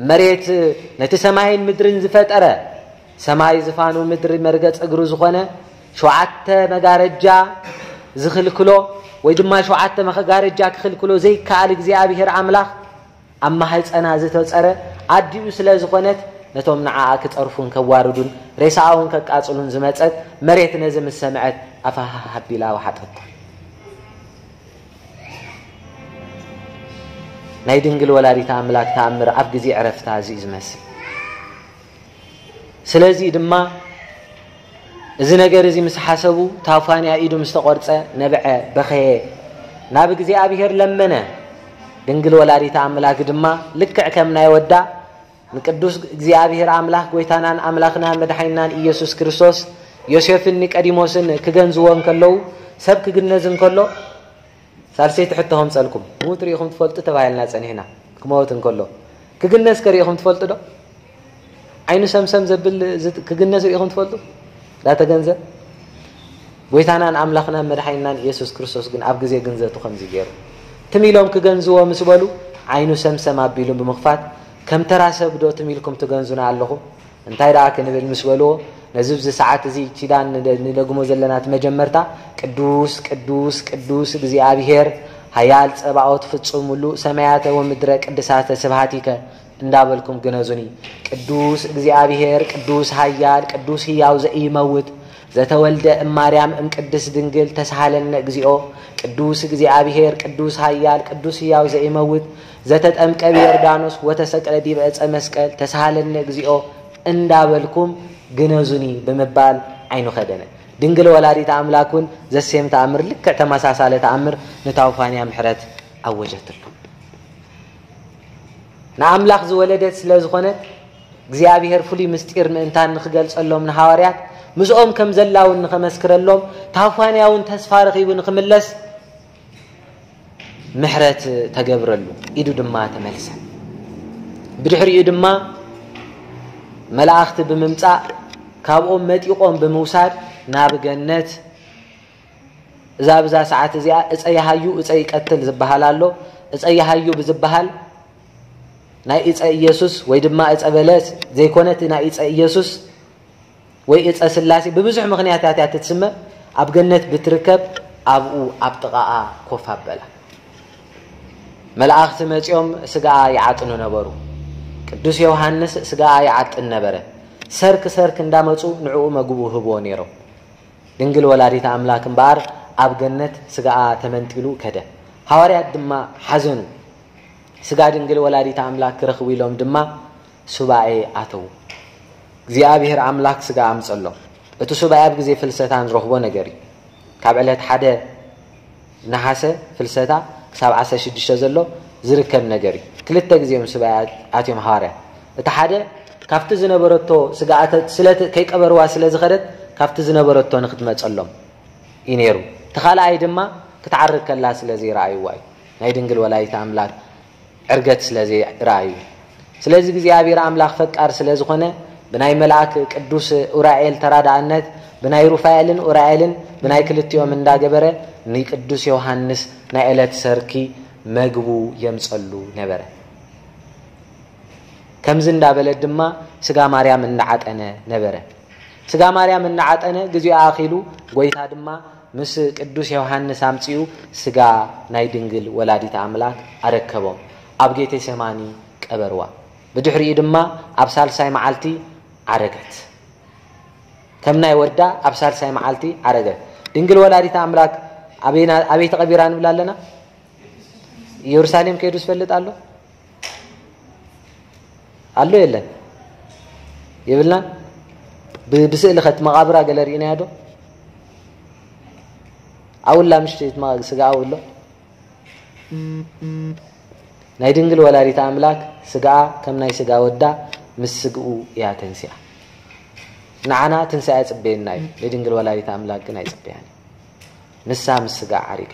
መሬት ነቲ ሰማይን ምድርን ዝፈጠረ፣ ሰማይ ዝፋኑ ምድሪ መርገጽ እግሩ ዝኾነ፣ ሸውዓተ መጋረጃ ዝኽልክሎ ወይ ድማ ሸውዓተ መጋረጃ ክኽልክሎ ዘይከኣል እግዚኣብሔር ኣምላኽ ኣብ ማህፀና ዝተፀረ ኣዲኡ ስለ ዝኾነት፣ ነቶም ንዓኣ ክፀርፉን ከዋርዱን ሬሳኣ እውን ከቃጽሉን ዝመጸት መሬት ነዚ ምስ ሰምዐት ኣፋሃሃ ኣቢላ ወሓጠታ። ናይ ድንግል ወላዲት ኣምላክ ተኣምር ኣብ ግዜ ዕረፍታ እዚ እዩ ዝመስል። ስለዚ ድማ እዚ ነገር እዚ ምስ ሓሰቡ፣ ታውፋንያ ኢዱ ምስ ተቖርጸ፣ ነብዐ፣ በኸየ፣ ናብ እግዚኣብሔር ለመነ። ድንግል ወላዲት ኣምላክ ድማ ልክዕ ከም ናይ ወዳ ንቅዱስ እግዚኣብሔር ኣምላክ፣ ጎይታናን ኣምላክናን መድሓኒናን ኢየሱስ ክርስቶስ፣ ዮሴፍን ኒቀዲሞስን ክገንዝዎ እንከለዉ፣ ሰብ ክግነዝ እንከሎ፣ ሳልሰይቲ ሕቶ ከምጸልኩም፣ ምዉት ርኢኹም ትፈልጡ ተባሂልና ጸኒሕና። ክመውት እንከሎ ክግነዝ ከ ርኢኹም ትፈልጡ ዶ? ዓይኑ ሰምሰም ዘብል ዝ-፣ ክግነዝ ርኢኹም ትፈልጡ? ዳተገንዘ ጎይታናን ኣምላኽናን መድሓኒናን ኢየሱስ ክርስቶስ ግን ኣብ ግዜ ግንዘቱ ከምዚ ገይሩ፣ ትም ኢሎም ክገንዝዎ ምስ በሉ፣ ዓይኑ ሰምሰም ኣቢሉ ብምኽፋት፣ ከም ተራ ሰብ ዶ ትም ኢልኩም ትገንዙና ኣለኹም? እንታይ ደኣ ክንብል ምስ በልዎ፣ ነዚ ኣብዚ ሰዓት እዚ ኪዳን ንደ-፣ ንደግሞ ዘለና እቲ መጀመርታ፣ ቅዱስ፣ ቅዱስ፣ ቅዱስ እግዚኣብሔር፣ ኃያል ጸባኦት፣ ፍጹም ምሉእ ሰማያተ ወምድረ ቅድሳተ ስብሐቲከ እንዳበልኩም ግነዙኒ። ቅዱስ እግዚኣብሔር፣ ቅዱስ ኃያል፣ ቅዱስ ሕያው ዘኢይመውት፣ ዘተወልደ እማርያም እምቅድስት ድንግል ተስሃለነ እግዚኦ። ቅዱስ እግዚኣብሔር፣ ቅዱስ ኃያል፣ ቅዱስ ሕያው ዘኢይመውት፣ ዘተጠምቀ ብዮርዳኖስ ወተሰቅለ ዲበ ዕፀ መስቀል ተስሃለነ እግዚኦ እንዳበልኩም ግነዙኒ ብምባል ዓይኑ ከደነ። ድንግል ወላዲት ኣምላክ እውን ዘሴም ተኣምር፣ ልክዕ ተመሳሳለ ተኣምር ንታውፋንያ ምሕረት ኣወጀትሉ። ንኣምላኽ ዝወለደት ስለ ዝኾነት፣ እግዚኣብሔር ፍሉይ ምስጢር ምእንታን ንኽገልጸሎም ንሃዋርያት፣ ምስኦም ከም ዘላ እውን ንኸመስክረሎም፣ ታውፋንያ እውን ተስፋ ረኺቡ ንኽምለስ ምሕረት ተገብረሉ፣ ኢዱ ድማ ተመልሰ። ብድሕሪኡ ድማ መላእኽቲ ብምምጻእ፣ ካብኦም መጢቖም ብምውሳድ፣ ናብ ገነት፣ እዛ ብዛ ሰዓት እዚኣ እፀ ይሃዩ እፀ ይቀትል ዝበሃል ኣሎ። እፀ ይሃዩ ብዝበሃል ናይ እፀ ኢየሱስ ወይ ድማ እፀ በለስ ዘይኮነ፣ እቲ ናይ እፀ ኢየሱስ ወይ እፀ ስላሴ ብብዙሕ ምኽንያታት እያ ትትስመ። ኣብ ገነት ብትርከብ ኣብኡ ኣብ ጥቓኣ ኮፍ ኣበላ። መላእኽቲ መፂኦም ስጋኣ ይዓጥኑ ነበሩ። ቅዱስ ዮሃንስ ስጋኣ ይዓጥን ነበረ። ሰርክ ሰርክ እንዳመፁ ንዕኡ መግቡ ህብዎ ነይሮም። ድንግል ወላዲተ ኣምላክ እምበኣር ኣብ ገነት ስጋኣ ተመንጢሉ ከደ። ሃዋርያት ድማ ሓዘኑ። ስጋ ድንግል ወላዲተ ኣምላክ ክረኽቡ ኢሎም ድማ ሱባኤ ኣተዉ። እግዚኣብሔር ኣምላክ ስጋ ኣምጸሎም። እቲ ሱባኤ ኣብ ግዜ ፍልሰታ ንረኽቦ ነገር እዩ። ካብ ዕለት ሓደ ነሓሰ ፍልሰታ ክሳብ ዓሰርተ ሽዱሽተ ዘሎ ዝርከብ ነገር እዩ። ክልተ ግዜ እዮም ሱባኤ ኣትዮም ሃዋርያት። እቲ ሓደ ካብቲ ዝነበረቶ ስጋ ኣተ-፣ ስለ እቲ ከይቀበርዋ ስለ ዝኸደት፣ ካብቲ ዝነበረቶ ንክትመጸሎም እዩ ነይሩ። እቲ ካልኣይ ድማ ክትዓርግ ከላ ስለ ዘይረኣይዋ እዩ። ናይ ድንግል ወላዲት ኣምላክ ዕርገት ስለ ዘይረኣዩ። ስለዚ እግዚኣብሔር ኣምላኽ ፈቃር ስለ ዝኾነ ብናይ መልኣክ ቅዱስ ኡራኤል ተራዳእነት ብናይ ሩፋኤልን ኡራኤልን ብናይ ክልቲኦም እንዳገበረ ንቅዱስ ዮሃንስ ናይ ዕለት ሰርኪ መግቡ የምጸሉ ነበረ። ከምዚ እንዳበለ ድማ ስጋ ማርያም እንዳዓጠነ ነበረ። ስጋ ማርያም እናዓጠነ ግዜኡ ኣኺሉ፣ ጎይታ ድማ ምስ ቅዱስ ዮሃንስ ኣምጺኡ ስጋ ናይ ድንግል ወላዲተ ኣምላክ ኣረከቦም። ኣብ ጌቴሰማኒ ቀበርዋ። ብድሕሪኡ ድማ ኣብ ሳልሳይ መዓልቲ ዓረገት። ከም ናይ ወዳ ኣብ ሳልሳይ መዓልቲ ዓረገት። ድንግል ወላዲተ ኣምላክ ኣበይና-፣ ኣበይ ተቐቢራ ንብል ኣለና? ኢየሩሳሌም ከይዱ ዝፈልጥ ኣሎ? ኣሎ የለን? የብልና? ብ-፣ ብስእሊ ኸት መቓብራ ገለ ርኢናዮ ዶ? ኣብላ ምሽቲ እቲ መቓ-፣ ስጋ ኣብሎ? ናይ ድንግል ወላዲተ ኣምላክ ስጋኣ ከም ናይ ስጋ ወዳ ምስ ስግኡ እያ ተንሲኣ። ንዓና ትንሳኤ ጽበየና እዩ። ንድንግል ወላዲተ ኣምላክ ግን ኣይጽበያን እዩ። ንሳ ምስ ስጋ ዓሪጋ።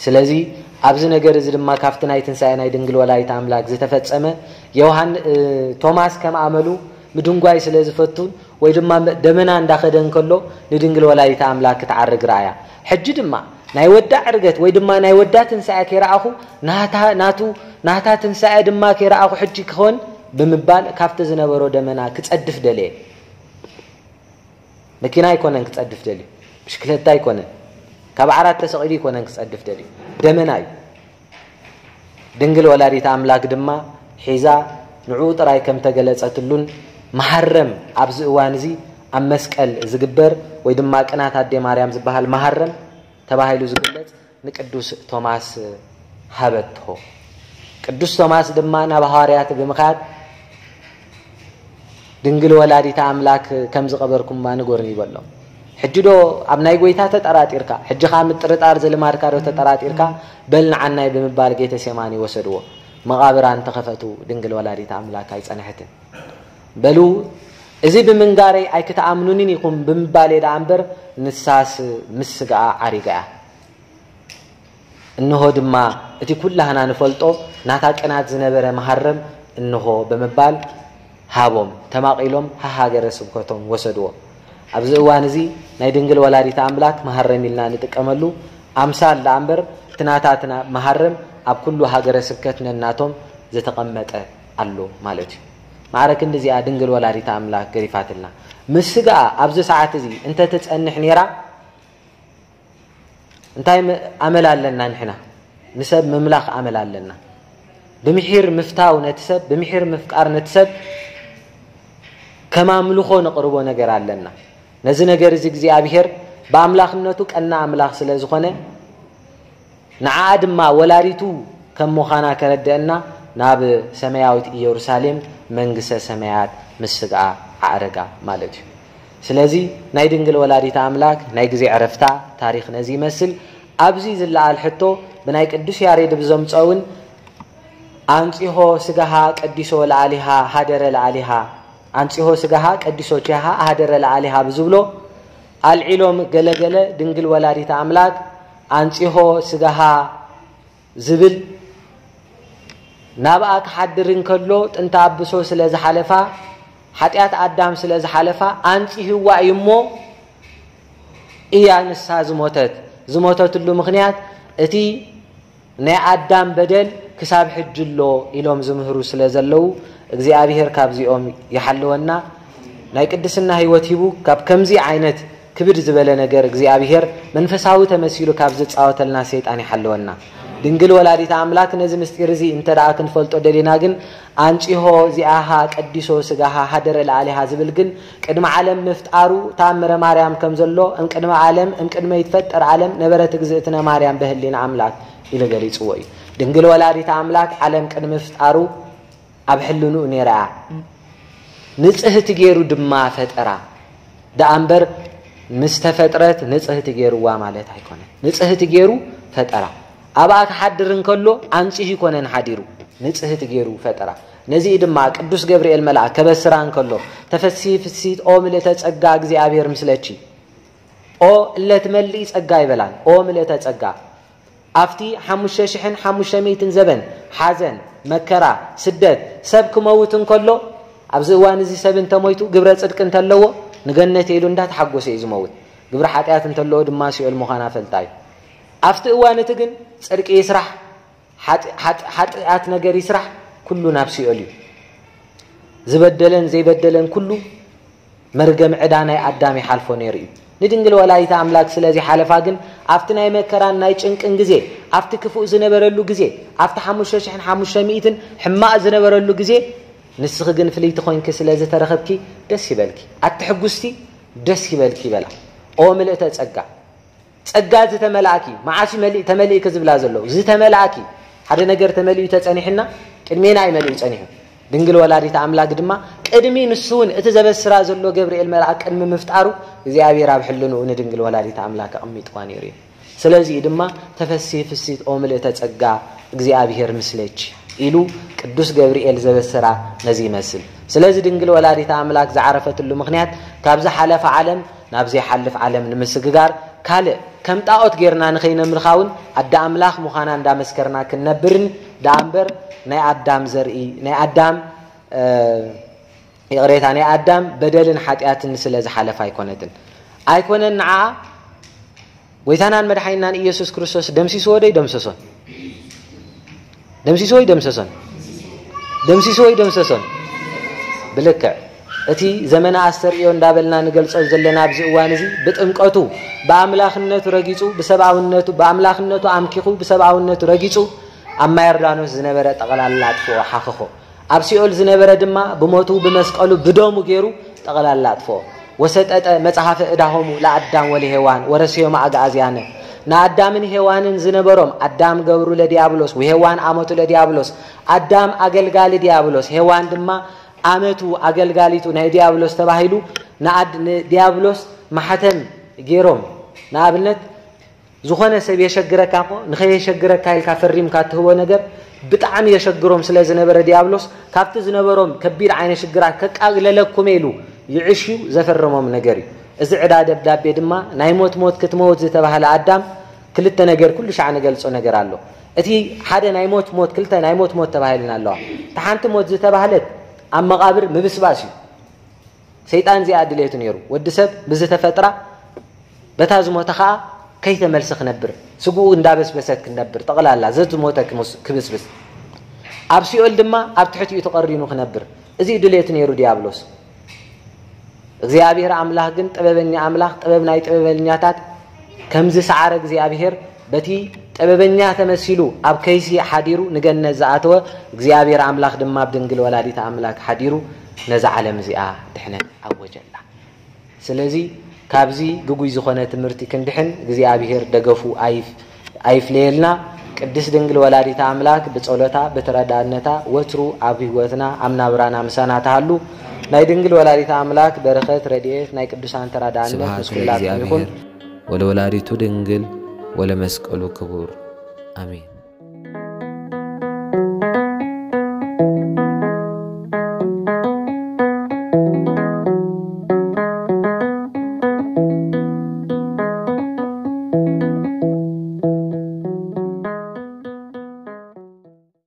ስለዚ ኣብዚ ነገር እዚ ድማ ካብቲ ናይ ትንሳኤ ናይ ድንግል ወላዲተ ኣምላክ ዝተፈጸመ ዮሃን-፣ እ፣ ቶማስ ከም ኣመሉ ምድንጓይ ስለ ዝፈቱን ወይ ድማ ደመና እንዳኸደ እንከሎ ንድንግል ወላዲተ ኣምላክ ክትዓርግ ረኣያ። ሕጂ ድማ ናይ ወዳ ዕርገት ወይ ድማ ናይ ወዳ ትንሳኤ ከይረኣኹ ናታ፣ ናቱ፣ ናታ ትንሳኤ ድማ ከይረኣኹ ሕጂ ክኾን ብምባል ካብቲ ዝነበሮ ደመና ክጸድፍ ደለየ። መኪና ኣይኮነን ክጸድፍ ደልዩ፣ ብሽክለታ ኣይኮነን፣ ካብ ዓራት ተሰቒሉ ኣይኮነን ክጸድፍ ደልዩ፣ ደመና እዩ። ድንግል ወላዲት ኣምላክ ድማ ሒዛ ንዕኡ ጥራይ ከም ተገለጸትሉን መሃረም ኣብዚ እዋን እዚ ኣብ መስቀል ዝግበር ወይ ድማ ቅናት ኣዴ ማርያም ዝበሃል መሃረም ተባሂሉ ዝግለጽ ንቅዱስ ቶማስ ሃበቶ። ቅዱስ ቶማስ ድማ ናብ ሃዋርያት ብምኻድ ድንግል ወላዲተ ኣምላክ ከም ዝቐበርኩማ ንገሩኒ በሎም። ሕጂ ዶ ኣብ ናይ ጎይታ ተጠራጢርካ? ሕጂ ኸኣ ምጥርጣር ዝልማድካ ዶ ተጠራጢርካ? በል ንዓናይ ብምባል ጌተሴማኒ ወሰድዎ። መቓብራን ተኸፈቱ፣ ድንግል ወላዲተ ኣምላክ ኣይጸንሐትን። በሉ፣ እዚ ብምንጋረይ ኣይክትኣምኑንን ኢኹም ብምባለይ ደኣ እምበር፣ ንሳስ ምስ ስጋኣ ዓሪጋ እያ። እንሆ ድማ እቲ ኩላህና ንፈልጦ ናታ ቅናት ዝነበረ መሃረም እንሆ ብምባል ሃቦም፣ ተማቒሎም ሃሃገረ ስብከቶም ወሰድዎ። ኣብዚ እዋን እዚ ናይ ድንግል ወላዲተ ኣምላክ መሃረም ኢልና ንጥቀመሉ ኣምሳል ደኣ እምበር፣ እቲ ናታትና መሃረም ኣብ ኩሉ ሃገረ ስብከት ነናቶም ዝተቐመጠ ኣሎ ማለት እዩ። ማዕረ ክንዲ እዚኣ ድንግል ወላዲተ ኣምላክ ገሪፋትልና። ምስ ስጋኣ ኣብዚ ሰዓት እዚ እንተትጸንሕ ነይራ፣ እንታይ ም-፣ ኣመል ኣለና ንሕና? ንሰብ ምምላኽ ኣመል ኣለና። ብምሒር ምፍታው ነቲ ሰብ፣ ብምሒር ምፍቃር ነቲ ሰብ ከም ኣምልኾ ነቕርቦ ነገር ኣለና። ነዚ ነገር እዚ እግዚኣብሔር ብኣምላኽነቱ ቀና ኣምላኽ ስለ ዝኾነ፣ ንዓኣ ድማ ወላዲቱ ከም ምዃና ከረድአና ናብ ሰማያዊት ኢየሩሳሌም መንግስተ ሰማያት ምስ ስግኣ ኣዕረጋ ማለት እዩ። ስለዚ ናይ ድንግል ወላዲት ኣምላክ ናይ ግዜ ዕረፍታ ታሪኽ ነዚ ይመስል። ኣብዚ ዝለዓል ሕቶ ብናይ ቅዱስ ያሬድ ብዘምጾ እውን ኣንጺሆ ስጋሃ ቀዲሶ ለኣሊሃ ሃደረ ለኣሊሃ፣ ኣንጺሆ ስጋሃ ቀዲሶ ቼሃ ሃደረ ለኣሊሃ ብዝብሎ ኣልዒሎም ገለገለ ድንግል ወላዲት ኣምላክ ኣንጺሆ ስጋሃ ዝብል ናብኣ ክሓድር እንከሎ ጥንተ ኣብሶ ስለ ዝሓለፋ፣ ሓጢኣት ኣዳም ስለ ዝሓለፋ ኣንጺህዋ እዩ እሞ እያ ንሳ ዝሞተት። ዝሞተትሉ ምኽንያት እቲ ናይ ኣዳም በደል ክሳብ ሕጂ ኣሎ ኢሎም ዝምህሩ ስለ ዘለዉ እግዚኣብሔር ካብዚኦም ይሓልወና። ናይ ቅድስና ህይወት ሂቡ ካብ ከምዚ ዓይነት ክብድ ዝበለ ነገር እግዚኣብሔር መንፈሳዊ ተመሲሉ ካብ ዝጻወተልና ሰይጣን ይሓልወና። ድንግል ወላዲተ ኣምላክ ነዚ ምስጢር እዚ እንተ ደኣ ክንፈልጦ ደሊና ግን ኣንጺሆ ዚኣሃ ቀዲሶ ስጋሃ ሃደረ ለኣሊሃ ዝብል ግን ቅድሚ ዓለም ምፍጣሩ ተኣምረ ማርያም ከም ዘሎ እም ቅድሚ ዓለም እም ቅድመ ይትፈጠር ዓለም ነበረት እግዝእትነ ማርያም በህሊና ኣምላክ ኢሉ ገሊጽዎ እዩ። ድንግል ወላዲተ ኣምላክ ዓለም ቅድሚ ምፍጣሩ ኣብ ሕልንኡ ነይራ እያ። ንጽህቲ ገይሩ ድማ ፈጠራ። ደኣ እምበር ምስ ተፈጥረት ንጽህቲ ገይርዋ ማለት ኣይኮነን። ንጽህቲ ገይሩ ፈጠራ። ኣብኣ ክሓድር እንከሎ ኣንጺሁ ኣይኮነን ሓዲሩ። ንጽህቲ ገይሩ ፈጠራ። ነዚ ድማ ቅዱስ ገብርኤል መልኣክ ከበስራ እንከሎ፣ "ተፈሲ ፍሲት ኦ ምልእተ ጸጋ እግዚኣብሔር ምስለኪ፣ ኦ እለ ትመልኢ ጸጋ" ይበላን። ኦ ምልእተ ጸጋ፣ ኣብቲ ሓሙሽተ ሽሕን ሓሙሽተ ሚእትን ዘበን ሓዘን፣ መከራ፣ ስደት፣ ሰብ ክመውት እንከሎ፣ ኣብዚ እዋን እዚ ሰብ እንተሞይቱ ግብረ ጽድቂ እንተለዎ፣ ንገነት ኢሉ እንዳተሓጎሰ እዩ ዝመውት። ግብረ ሓጢኣት እንተለዎ ድማ ሲኦል ምዃና ፈልጣ እዩ። ኣብቲ እዋን እቲ ግን ጽድቂ ይስራሕ፣ ሓጢ-፣ ሓጢ-፣ ሓጢኣት ነገር ይስራሕ፣ ኩሉ ናብ ሲኦል እዩ። ዝበደለን ዘይበደለን ኩሉ መርገም ዕዳ ናይ ኣዳም ይሓልፎ ነይሩ እዩ። ንድንግል ወላዲተ ኣምላክ ስለዚ ሓለፋ ግን ኣብቲ ናይ መከራን ናይ ጭንቅን ግዜ፣ ኣብቲ ክፉእ ዝነበረሉ ግዜ፣ ኣብቲ ሓሙሽተ ሽሕን ሓሙሽተ ሚእትን ሕማቕ ዝነበረሉ ግዜ፣ ንስኺ ግን ፍልይቲ ኮይንኪ ስለ ዝተረኸብኪ ደስ ይበልኪ። ኣቲ ሕጉስቲ ደስ ይበልኪ ይበላ። ኦ ምልእተ ጸጋ፣ ጸጋ ዝተመላእኪ፣ መዓስ እዩ መሊእ-፣ ተመሊእኪ ዝብላ ዘለዉ? ዝተመላእኪ፣ ሓደ ነገር ተመሊኡ ተጸኒሕና፣ ቅድሜና እዩ መሊኡ ጸኒሑ። ድንግል ወላዲተ ኣምላክ ድማ ቅድሚ ንሱ እውን እቲ ዘበስራ ዘሎ ገብርኤል መልኣክ ቅድሚ ምፍጣሩ እግዚኣብሔር ኣብ ሕልንኡ ንድንግል ወላዲተ ኣምላክ ኣቐሚጥዋ ነይሩ እዩ። ስለዚ ድማ "ተፈሲ ፍሲት ኦ ምልእተ ጸጋ እግዚኣብሔር ምስለች" ኢሉ ቅዱስ ገብርኤል ዘበሰራ ነዚ ይመስል። ስለዚ ድንግል ወላዲተ ኣምላክ ዝዓረፈትሉ ምኽንያት ካብዚ ሓለፈ ዓለም ናብ ዘይሓልፍ ዓለም ንምስግጋር፣ ካልእ ከም ጣዖት ጌርና ንኸይነምልኻ እውን ኣደ ኣምላኽ ምዃና እንዳመስከርና ክንነብርን ደኣ እምበር ናይ ኣዳም ዘርኢ፣ ናይ ኣዳም፣ እ፣ ይቕሬታ፣ ናይ ኣዳም በደልን ሓጢኣትን ስለ ዝሓለፈ ኣይኮነትን። ኣይኮነን ንዓኣ ጎይታናን መድሓኒናን ኢየሱስ ክርስቶስ ደምሲስዎ ዶ ይደምሰሶን? ደምሲስዎ ይደምሰሶን? ደምሲስዎ ይደምሰሶን? ብልክዕ እቲ ዘመነ ኣስተርእዮ እንዳበልና ንገልጾ ዘለና ኣብዚ እዋን እዚ ብጥምቀቱ ብኣምላኽነቱ ረጊጹ፣ ብሰብኣውነቱ፣ ብኣምላኽነቱ ኣምኪኹ ብሰብኣውነቱ ረጊጹ ኣብ ማይ ዮርዳኖስ ዝነበረ ጠቕላላ ኣጥፍኦ፣ ሓኸኾ። ኣብ ሲኦል ዝነበረ ድማ ብሞቱ ብመስቀሉ ብደሙ ገይሩ ጠቕላላ ኣጥፍኦ። "ወሰጠጠ መጽሐፈ ዕዳሆሙ ለኣዳም ወለሄዋን ወረሰዮማ ኣግኣዝያነ"፣ ንኣዳምን ሄዋንን ዝነበሮም፣ ኣዳም ገብሩ ለዲያብሎስ ወሄዋን ኣመቱ ለዲያብሎስ፣ ኣዳም ኣገልጋሊ ዲያብሎስ፣ ሄዋን ድማ ኣመቱ ኣገልጋሊቱ ናይ ዲያብሎስ ተባሂሉ ንኣድ-፣ ንዲያብሎስ ማሕተም ገይሮም። ንኣብነት ዝኾነ ሰብ የሸግረካ እኮ፣ ንኸየሸግረካ ኢልካ ፈሪምካ እትህቦ ነገር ብጣዕሚ የሸግሮም ስለ ዝነበረ ዲያብሎስ፣ ካብቲ ዝነበሮም ከቢድ ዓይነት ሽግራት ከቃግለለኩም ኢሉ ይዕሽዩ ዘፈረሞም ነገር እዩ። እዚ ዕዳ ደብዳቤ ድማ ናይ ሞት ሞት ክትመውት ዝተባህለ ኣዳም ክልተ ነገር ኩሉ ሻዕ ንገልጾ ነገር ኣሎ። እቲ ሓደ ናይ ሞት ሞት፣ ክልተ ናይ ሞት ሞት ተባሂልና ኣለዋ። እቲ ሓንቲ ሞት ዝተባህለት ኣብ መቓብር ምብስባስ እዩ። ሰይጣን እዚኣ ድሌቱ ነይሩ። ወዲ ሰብ ብዝተፈጥራ በታ ዝሞተ ኸኣ ከይተመልሰ ክነብር፣ ስግኡ እንዳበስበሰት ክነብር፣ ጠቕላላ ዘዝሞተ ክምስ-፣ ክብስብስ፣ ኣብ ሲኦል ድማ ኣብ ትሕቲኡ ተቐሪኑ ክነብር፣ እዚ እዩ ድሌቱ ነይሩ ዲያብሎስ። እግዚኣብሔር ኣምላኽ ግን ጥበበኛ ኣምላኽ፣ ጥበብ ናይ ጥበበኛታት፣ ከምዚ ሰዓረ እግዚኣብሔር በቲ ጥበበኛ ተመሲሉ ኣብ ከይሲ ሓዲሩ ንገነት ዝኣተወ እግዚኣብሔር ኣምላኽ ድማ ኣብ ድንግል ወላዲት ኣምላክ ሓዲሩ ነዛ ዓለም እዚኣ ድሕነት ኣወጀላ። ስለዚ ካብዚ ግጉይ ዝኾነ ትምህርቲ ክንድሕን እግዚኣብሔር ደገፉ ኣይፍ-፣ ኣይፍለየልና። ቅድስት ድንግል ወላዲት ኣምላክ ብጸሎታ ብተረዳእነታ ወትሩ ኣብ ህይወትና ኣብ ናብራና ምሳና ትሃሉ። ናይ ድንግል ወላዲት ኣምላክ በረኸት ረድኤት ናይ ቅዱሳን ተራዳእነት ስብሐት ምስ ኩላትኩም ይኹን። ለእግዚኣብሔር ወለወላዲቱ ድንግል ወለመስቀሉ ክቡር። ኣሜን።